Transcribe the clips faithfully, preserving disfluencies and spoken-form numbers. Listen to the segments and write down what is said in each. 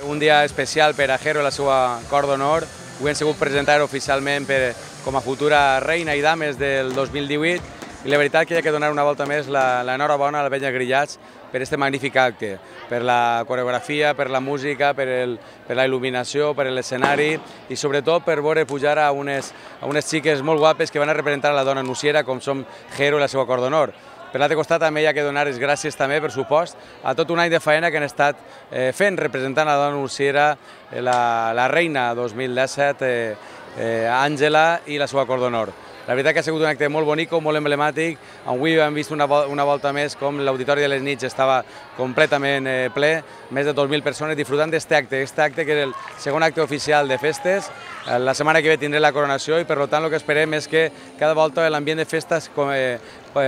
un dia especial per a Jero i la seva cor d'honor. Avui hem sigut presentar oficialment per, com a futura reina i dames del dos mil divuit i la veritat que hi ha que donar una volta més l'enhorabona a la penya Grillats per aquest magnífic acte, per la coreografia, per la música, per, el, per la il·luminació, per l'escenari i sobretot per veure pujar a unes, a unes xiques molt guapes que van a representar la dona nuciera com som Jero i la seva cor d'honor. Per l'altre costat també hi ha que donar les gràcies també, per supost, a tot un any de feina que han estat eh, fent representant la dona nuciera, eh, la, la reina dos mil disset, eh, eh, Àngela i la seva cor d'honor. La veritat que ha sigut un acte molt bonic, molt emblemàtic. Avui hem vist una, una volta més com l'Auditori de les Nits estava completament eh, ple, més de dos mil persones disfrutant d'aquest acte, aquest acte que és el segon acte oficial de festes. La setmana que ve tindré la coronació i per tant el que esperem és que cada volta l'ambient de festes eh,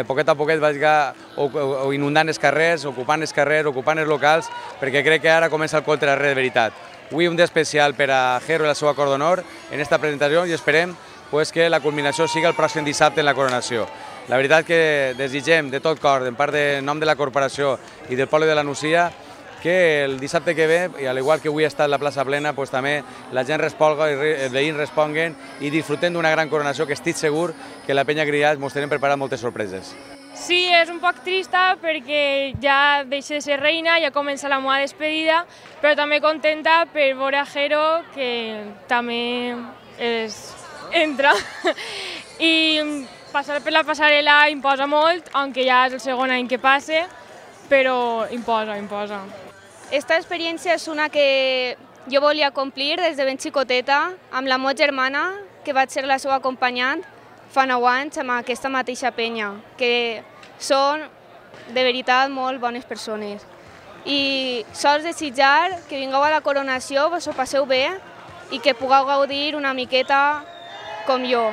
poquet a poquet vagi o, o inundant els carrers, ocupant els carrers, ocupant els locals, perquè crec que ara comença el contrarre de veritat. Avui un dia especial per a Jero i la seva cor d'honor en aquesta presentació i esperem pues, que la culminació sigui el pròxim dissabte en la coronació. La veritat que desitgem de tot cor, en part de nom de la corporació i del poble de la Nucia, que el dissabte que ve, i al igual que avui ha estat la plaça plena, pues, també la gent responga, els veïns responguen i disfrutem d'una gran coronació que estic segur que la penya Grillats ens tenen preparat moltes sorpreses. Sí, és un poc trista perquè ja deixa de ser reina, ja comença la meva despedida, però també contenta per veure a Jero, que també és... entra. I passar per la passarel·la imposa molt, aunque ja és el segon any que passe, però imposa, imposa. Esta experiència és una que jo volia complir des de ben xicoteta amb la meva germana, que vaig ser la seva acompanyant fa nou anys amb aquesta mateixa penya, que són de veritat molt bones persones. I sols desitjar que vingueu a la coronació, vos ho passeu bé i que pugueu gaudir una miqueta com jo.